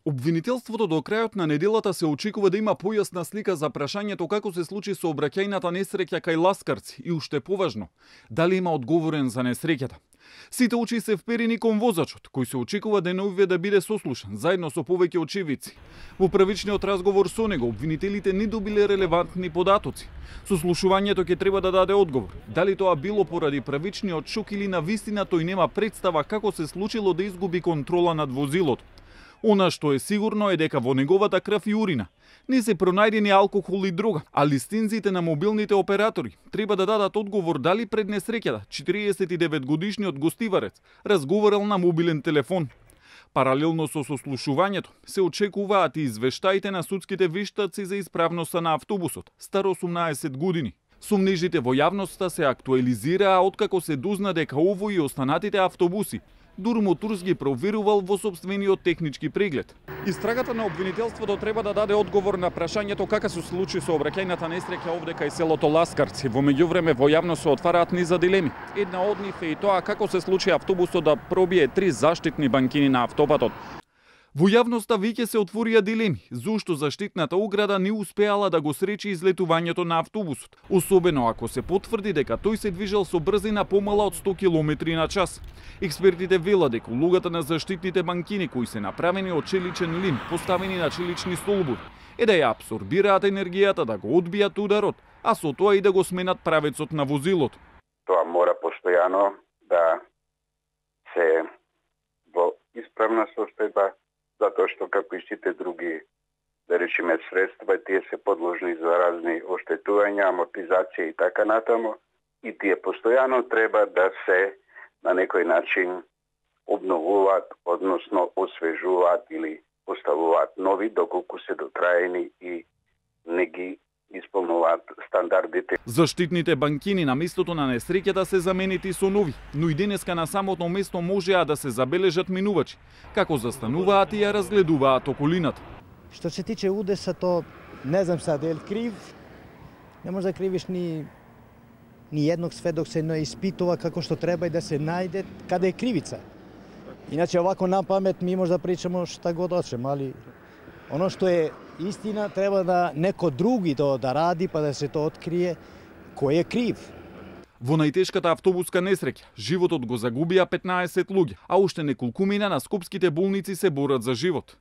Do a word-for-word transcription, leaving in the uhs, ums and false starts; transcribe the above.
Обвинителството до крајот на неделата се очекува да има појасна слика за прашањето како се случи сообраќајната несреќа кај Ласкарци и уште поважно, дали има одговорен за несреќата. Сите очи се вперени кон возачот, кој се очекува деновиве да биде сослушан, заедно со повеќе очевидци. Во првичниот разговор со него, обвинителите не добиле релевантни податоци. Сослушувањето ќе треба да даде одговор. Дали тоа било поради првичниот шок или навистина тој нема представа како се случило да изгуби контрола над возилото. Она што е сигурно е дека во неговата крв и урина не се пронајдени алкохол и дрога, а листинзите на мобилните оператори треба да дадат одговор дали пред несреќата четириесет и девет годишниот гостиварец разговарал на мобилен телефон. Паралелно со сослушувањето се очекуваат и извештаите на судските вештаци за исправноста на автобусот, стар осумнаесет години. Сомнежите во јавноста се актуализираа откако се дозна дека овој и останатите автобуси Дур Моторс ги проверувал во сопствениот технички преглед. Истрагата на обвинителството треба да даде одговор на прашањето како се случи сообраќајната несреќа овде кај селото Ласкарци. Во меѓувреме во јавност се отвараат низа дилеми. Една од нив е и тоа како се случи автобусот да пробие три заштитни банкини на автопатот. Во јавноста веќе се отворија дилеми зошто заштитната ограда не успеала да го сречи излетувањето на автобусот, особено ако се потврди дека тој се движел со брзина помала од сто километри на час. Експертите велат дека улогата на заштитните банкини кои се направени од челичен лим, поставени на челични столбови, е да ја апсорбираат енергијата, да го одбијат ударот, а со тоа и да го сменат правецот на возилото. Тоа мора постојано да се во исправна состојба, затоа што како и сите други, да речеме, средства, тие се подложни за разни оштетувања, амортизација и така натаму, и тие постојано треба да се на некој начин обновуваат, односно освежуваат или поставуваат нови, доколку се дотраени и не ги исполнуваат стандардите. Заштитните банкини на местото на несреќата се заменети со нови, но и денеска на самото место можеа да се забележат минувачи, како застануваат и ја разгледуваат околината. Што се тиче удесото, не знам сега дали крив, не може да кривиш ни ни едног сведок се не испитува како што треба и да се најде каде е кривица. Иначе овако на памет ми може да причаме шта god hoćemo, али оно што е истина треба да неко други тоа да ради па да се тоа открие кој е крив. Во најтешката автобуска несреќа животот го загубија петнаесет луѓе, а уште неколкумина на скопските болници се борат за живот.